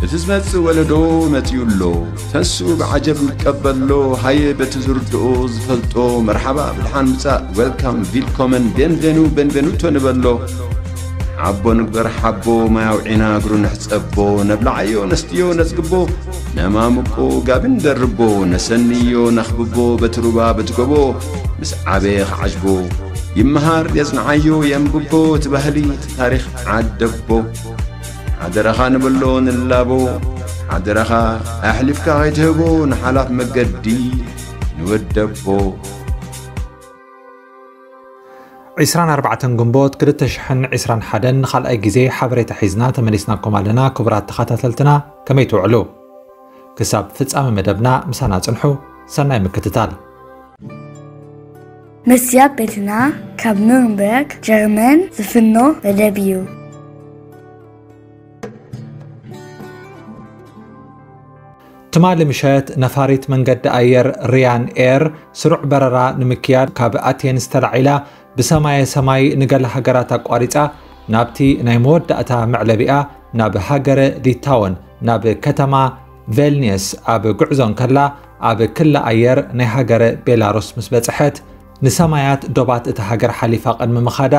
እቲ ዝመጽእ ወለዶ መጺኡ ኣሎ። ተንስኡ ብዓጀብ ንቀበሎ። ሃየ በቲ ዝርድኦ ዝፈልጦ መርሓባ ብድሓን ምጻእ፣ ዌልካም፣ ቪልኮመን፣ ቤንቬኑ፣ ቤንቬኑቶ ንበሎ። ሓቦ ንግበር ሓቦ፣ ማይ ኣውዒና እግሩ ንሕጸቦ። ነብልዓዮ ነስትዮ ነጽግቦ፣ ነማምቆ ጋቢ ንደርቦ። ነሰንዮ ነኽብቦ በቲ ሩባ በቲ ጎቦ። ምስ ዓበየ ክዓጅቦ ይመሃር የጽንዓዮ የንብቦ። እቲ ባህሊ እቲ ታሪኽ ዓደቦ። ሓደራኻ ንበሎ ንላቦ። ሓደራኻ ኣሕሊፍካ ከይትህቦ ንሓላፍ መገዲ ንወደቦ። ዒስራን ኣርባዕተን ግንቦት ክልተ ሽሕን ዕስራን ሓደን ንኻልኣይ ግዜ ሓበሬታ ሒዝና ተመሊስናኩም ኣለና። ክቡራት ተኸታተልትና ከመይ ትውዕሉ? ክሳብ ፍጻመ መደብና ምሳና ጽንሑ። ሰናይ ምክትታል። መስያ ቤትና ካብ ኑርንበርግ ጀርመን ዝፍኖ መደብ እዩ። ትማሊ ምሸት ነፋሪት መንገዲ ኣየር ሪያን ኤር ስሩዕ በረራ ንምክያድ ካብ ኣቴንስ ተላዒላ ብሰማየ ሰማይ ንገለ ሃገራት ኣቋሪጻ ናብቲ ናይ መወዳእታ መዕለቢኣ ናብ ሃገረ ሊታወን ናብ ከተማ ቬልኒየስ ኣብ ጉዕዞ እንከላ ኣብ ክሊ ኣየር ናይ ሃገረ ቤላሩስ ምስ በጽሐት ንሰማያት ዶባት እታ ሃገር ሓሊፋ ቅድሚ ምኻዳ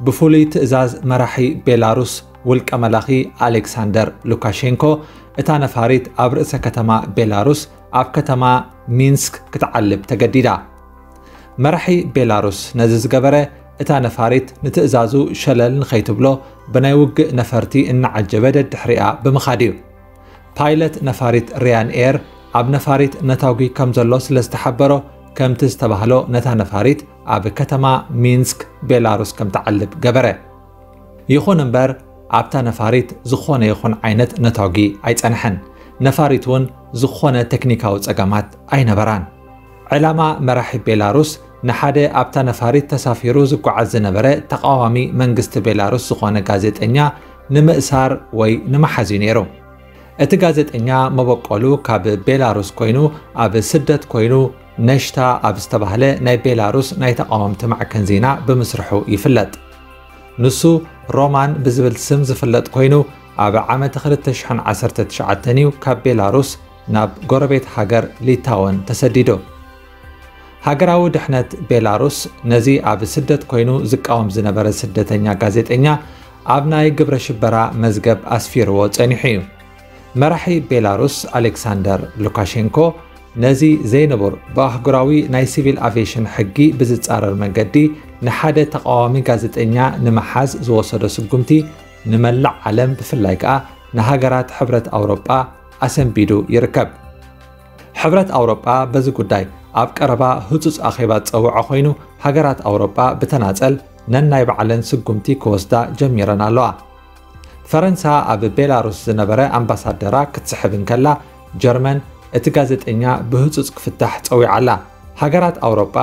ብፍሉይ ትእዛዝ መራሒ ቤላሩስ ውልቀ መላኺ ኣሌክሳንደር ሉካሼንኮ እታ ነፋሪት ኣብ ርእሰ ከተማ ቤላሩስ ኣብ ከተማ ሚንስክ ክትዓልብ ተገዲዳ። መራሒ ቤላሩስ ነዚ ዝገበረ እታ ነፋሪት ንትእዛዙ ሸለል ንኸይትብሎ ብናይ ውግእ ነፈርቲ እናዓጀበ ደድሕሪኣ ብምኻድ እዩ። ፓይለት ነፋሪት ሪያን ኤር ኣብ ነፋሪት ነታጒ ከም ዘሎ ስለ ዝተሓበሮ ከምቲ ዝተባህሎ ነታ ነፋሪት ኣብ ከተማ ሚንስክ ቤላሩስ ከም ትዓልብ ገበረ። ይኹን እምበር ኣብታ ነፋሪት ዝኾነ ይኹን ዓይነት ነታጒ ኣይጸንሐን። ነፋሪት እውን ዝኾነ ቴክኒካዊ ጸገማት ኣይነበራን። ዕላማ መራሒ ቤላሩስ ንሓደ ኣብታ ነፋሪት ተሳፊሩ ዝጓዓዝ ዝነበረ ተቓዋሚ መንግስቲ ቤላሩስ ዝኾነ ጋዜጠኛ ንምእሳር ወይ ንምሓዝ እዩ ነይሩ። እቲ ጋዜጠኛ መበቆሉ ካብ ቤላሩስ ኮይኑ ኣብ ስደት ኮይኑ ነሽታ ኣብ ዝተባህለ ናይ ቤላሩስ ናይ ተቓወምቲ ማዕከን ዜና ብምስርሑ ይፍለጥ። ንሱ ሮማን ብዝብል ስም ዝፍለጥ ኮይኑ ኣብ ዓመት ክልተ ሽሕን ዓሰርተ ትሽዓተን እዩ ካብ ቤላሩስ ናብ ጎረቤት ሃገር ሊታወን ተሰዲዱ። ሃገራዊ ድሕነት ቤላሩስ ነዚ ኣብ ስደት ኮይኑ ዝቃወም ዝነበረ ስደተኛ ጋዜጠኛ ኣብ ናይ ግብረ ሽበራ መዝገብ ኣስፊርዎ ጸኒሑ እዩ። መራሒ ቤላሩስ ኣሌክሳንደር ሉካሼንኮ ነዚ ዘይንቡር ብኣህጉራዊ ናይ ሲቪል ኣቪየሽን ሕጊ ብዝጻረር መንገዲ ንሓደ ተቓዋሚ ጋዜጠኛ ንምሓዝ ዝወሰዶ ስጉምቲ ንመላእ ዓለም ብፍላይ ከኣ ንሃገራት ሕብረት ኣውሮጳ ኣሰንቢዱ ይርከብ። ሕብረት ኣውሮጳ በዚ ጉዳይ ኣብ ቀረባ ህጹጽ ኣኼባ ዝጸውዖ ኮይኑ ሃገራት ኣውሮጳ ብተናጸል ነናይ ባዕለን ስጉምቲ ክወስዳ ጀሚረን ኣለዋ። ፈረንሳ ኣብ ቤላሩስ ዝነበረ ኣምባሳደራ ክትስሕብ እንከላ ጀርመን እቲ ጋዜጠኛ ብህጹጽ ክፍታሕ ጸዊዓ ኣላ። ሃገራት ኣውሮጳ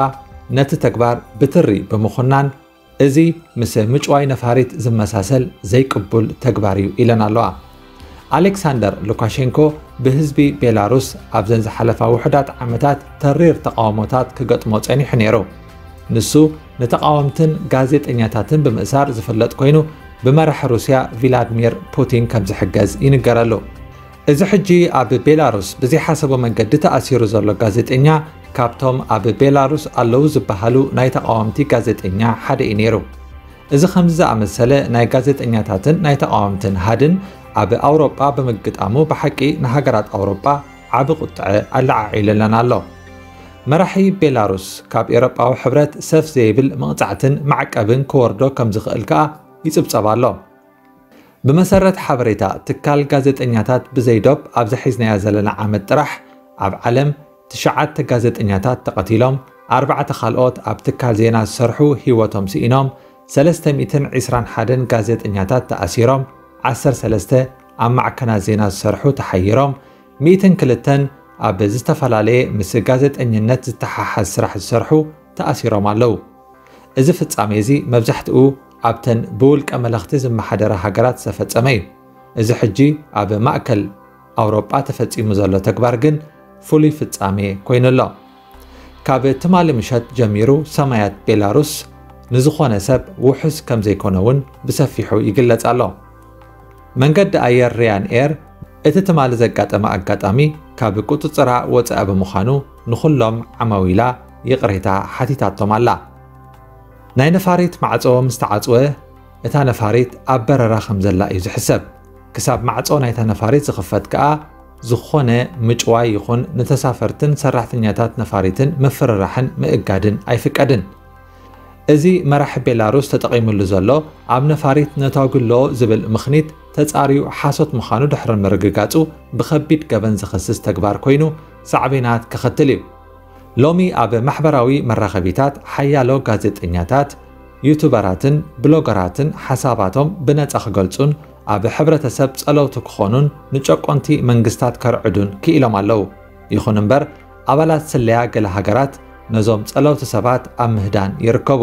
ነቲ ተግባር ብትሪ ብምኹናን እዚ ምስ ምጭዋይ ነፋሪት ዝመሳሰል ዘይቅቡል ተግባር እዩ ኢለን ኣለዋ። ኣሌክሳንደር ሉካሼንኮ ብህዝቢ ቤላሩስ ኣብዘን ዝሓለፋ ውሑዳት ዓመታት ተሪር ተቓውሞታት ክገጥሞ ጸኒሑ ነይሩ። ንሱ ንተቓወምትን ጋዜጠኛታትን ብምእሳር ዝፍለጥ ኮይኑ ብመራሒ ሩስያ ቪላድሚር ፑቲን ከም ዝሕገዝ ይንገረሉ። እዚ ሕጂ ኣብ ቤላሩስ ብዘይሓሰቦ መንገዲ ተኣሲሩ ዘሎ ጋዜጠኛ ካብቶም ኣብ ቤላሩስ ኣለዉ ዝበሃሉ ናይ ተቓወምቲ ጋዜጠኛ ሓደ እዩ ነይሩ። እዚ ከምዚ ዝኣመሰለ ናይ ጋዜጠኛታትን ናይ ተቓወምትን ሃድን ኣብ ኣውሮጳ ብምግጣሙ ብሓቂ ንሃገራት ኣውሮጳ ዓቢ ቁጥዐ ኣለዓዒሉለን ኣሎ። መራሒ ቤላሩስ ካብ ኤውሮጳዊ ሕብረት ሰፍ ዘይብል መቕጻዕትን ማዕቀብን ክወርዶ ከም ዝኽእል ከኣ ይጽብጸብ ኣሎ። ብመሰረት ሓበሬታ ትካል ጋዜጠኛታት ብዘይ ዶብ ኣብዚ ሒዝናዮ ዘለና ዓመት ጥራሕ ኣብ ዓለም ትሽዓተ ጋዜጠኛታት ተቐቲሎም፣ ኣርባዕተ ካልኦት ኣብ ትካል ዜና ዝሰርሑ ህይወቶም ስኢኖም፣ ሰለስተ ሚእትን ዕስራን ሓደን ጋዜጠኛታት ተኣሲሮም፣ ዓሰርተ ሰለስተ ኣብ ማዕከናት ዜና ዝሰርሑ ተሓይሮም፣ ሚእትን ክልተን ኣብ ዝተፈላለየ ምስ ጋዜጠኝነት ዝተሓሓዝ ስራሕ ዝሰርሑ ተኣሲሮም ኣለዉ። እዚ ፍጻሜ እዚ መብዛሕትኡ ኣብተን ብውልቀ መለኽቲ ዝመሓደራ ሃገራት ዝተፈጸመ እዩ። እዚ ሕጂ ኣብ ማእከል ኣውሮጳ ተፈጺሙ ዘሎ ተግባር ግን ፍሉይ ፍጻሜ ኮይኑ ኣሎ። ካብ ትማሊ ምሸት ጀሚሩ ሰማያት ቤላሩስ ንዝኾነ ሰብ ውሑስ ከም ዘይኮነ እውን ብሰፊሑ ይግለጽ ኣሎ። መንገዲ ኣየር ሪያን ኤር እቲ ትማሊ ዘጋጠመ ኣጋጣሚ ካብ ቁጽጽራ ወጻኢ ብምዃኑ ንኹሎም ዓማዊላ ይቕሬታ ሓቲታቶም ኣላ። ናይ ነፋሪት ማዕጾ ምስ ተዓጽወ፣ እታ ነፋሪት ኣብ በረራ ከም ዘላ እዩ ዝሕሰብ። ክሳብ ማዕጾ ናይታ ነፋሪት ዝኽፈት ከኣ፣ ዝኾነ ምጭዋይ ይኹን ንተሳፈርትን ሰራሕተኛታት ነፋሪትን ምፍርራሕን ምእጋድን ኣይፍቀድን። እዚ መራሒ ቤላሩስ ተጠቒሙሉ ዘሎ ኣብ ነፋሪት ነታጒ ኣሎ ዝብል ምኽኒት ተጻርዩ ሓሶት ምዃኑ ድሕሪ ምርግጋጹ ብኸቢድ ገበን ዝኸስስ ተግባር ኮይኑ ሳዕቤናት ከኸትል እዩ። ሎሚ ኣብ ማሕበራዊ መራኸቢታት ሓያሎ ጋዜጠኛታት፣ ዩቱበራትን ብሎገራትን ሓሳባቶም ብነጻ ክገልጹን ኣብ ሕብረተሰብ ጸለውቲ ክኾኑን ንጨቆንቲ መንግስታት ከርዕዱን ክኢሎም ኣለዉ። ይኹን እምበር፣ ኣባላት ስለያ ገለ ሃገራት ነዞም ጸለውቲ ሰባት ኣብ ምህዳን ይርከቡ።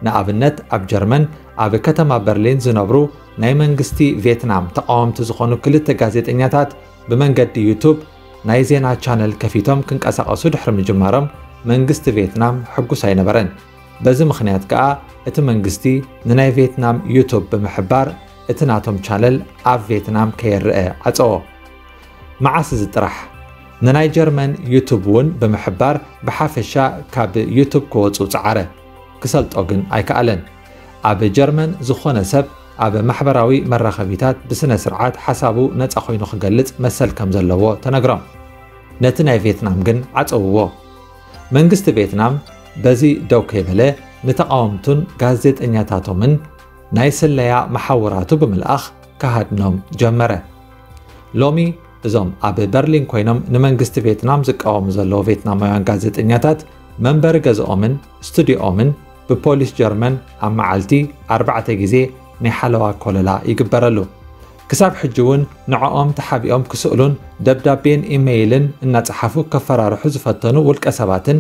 ንኣብነት፣ ኣብ ጀርመን ኣብ ከተማ በርሊን ዝነብሩ ናይ መንግስቲ ቬትናም ተቓወምቲ ዝኾኑ ክልተ ጋዜጠኛታት ብመንገዲ ዩቱብ ናይ ዜና ቻነል ከፊቶም ክንቀሳቐሱ ድሕሪ ምጅማሮም መንግስቲ ቬትናም ሕጉስ ኣይነበረን። በዚ ምኽንያት ከኣ እቲ መንግስቲ ንናይ ቬትናም ዩቱብ ብምሕባር እቲ ናቶም ቻነል ኣብ ቬትናም ከየርአ ዓጸዎ። መዓስ እዚ ጥራሕ? ንናይ ጀርመን ዩቱብ እውን ብምሕባር ብሓፈሻ ካብ ዩቱብ ክወጹ ጸዓረ። ክሰልጦ ግን ኣይከኣለን። ኣብ ጀርመን ዝኾነ ሰብ ኣብ ማሕበራዊ መራኸቢታት ብስነ ስርዓት ሓሳቡ ነጻ ኮይኑ ክገልጽ መሰል ከም ዘለዎ ተነግሮም። ነቲ ናይ ቬትናም ግን ዓጸውዎ። መንግስቲ ቬትናም በዚ ደው ከይበለ ንተቓወምቱን ጋዜጠኛታቶምን ናይ ስለያ መሓውራቱ ብምልኣኽ ክሃድኖም ጀመረ። ሎሚ እዞም ኣብ በርሊን ኮይኖም ንመንግስቲ ቬትናም ዝቃወሙ ዘለዉ ቬትናማውያን ጋዜጠኛታት መንበሪ ገዝኦምን ስቱዲዮኦምን ብፖሊስ ጀርመን ኣብ መዓልቲ ኣርባዕተ ግዜ ናይ ሓለዋ ኮለላ ይግበረሉ። ክሳብ ሕጂ እውን ንዕኦም ተሓቢኦም ክስእሉን ደብዳቤን ኢመይልን እናጸሓፉ ከፈራርሑ ዝፈተኑ ውልቀ ሰባትን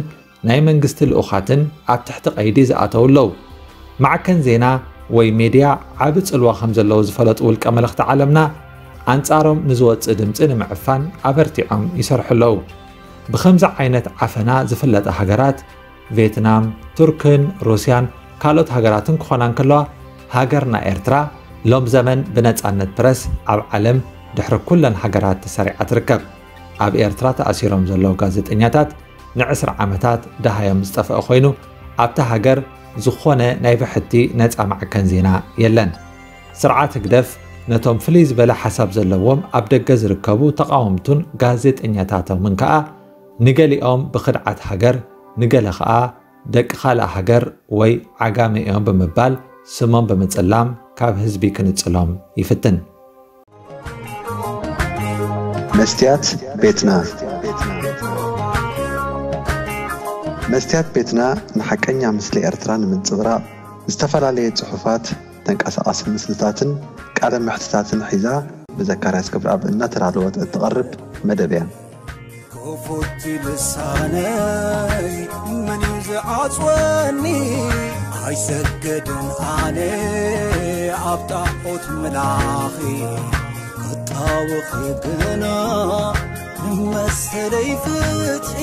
ናይ መንግስቲ ልኡኻትን ኣብ ትሕቲ ቀይዲ ዝኣተዉ ኣለዉ። ማዕከን ዜና ወይ ሜድያ ዓቢ ጽልዋ ከም ዘለዎ ዝፈለጡ ውልቀ መለኽቲ ዓለምና፣ ኣንጻሮም ንዝወጽእ ድምጺ ንምዕፋን ኣበርቲዖም ይሰርሑ ኣለዉ። ብኸምዚ ዓይነት ዓፈና ዝፍለጣ ሃገራት ቬትናም፣ ቱርክን ሩስያን ካልኦት ሃገራትን ክኾና እንከለዋ፣ ሃገርና ኤርትራ ሎም ዘመን ብነጻነት ፕረስ ኣብ ዓለም ድሕሪ ኩለን ሃገራት ተሰሪዓ ትርከብ። ኣብ ኤርትራ ተኣሲሮም ዘለዉ ጋዜጠኛታት ንዕስራ ዓመታት ደሃዮም ዝጠፍአ ኮይኑ፣ ኣብታ ሃገር ዝኾነ ናይ ብሕቲ ነጻ ማዕከን ዜና የለን። ስርዓት ህግደፍ ነቶም ፍልይ ዝበለ ሓሳብ ዘለዎም ኣብ ደገ ዝርከቡ ተቓወምቱን ጋዜጠኛታቶምን ከኣ፣ ንገሊኦም ብኽድዓት ሃገር፣ ንገለ ከኣ ደቂ ካልእ ሃገር ወይ ዓጋመ እዮም ብምባል ስሞም ብምጽላም ካብ ህዝቢ ክንጽሎም ይፍትን። መስትያት ቤትና። መስትያት ቤትና ንሓቀኛ ምስሊ ኤርትራ ንምንጽብራቕ ዝተፈላለየ ጽሑፋት፣ ተንቀሳቓሲ ምስልታትን ቃለ መሕትታትን ሒዛ ብዘካርያስ ገብረኣብ እናተዳለወት እትቐርብ መደብ እያ። ክፉት ልሳነይ መን እዩ ዝዓጽወኒ? ኣይሰገድን ኣነ ኣብ ጣዖት ምላኺ፣ ክጣወኺ ግና ንመሰለይ ፍትሒ።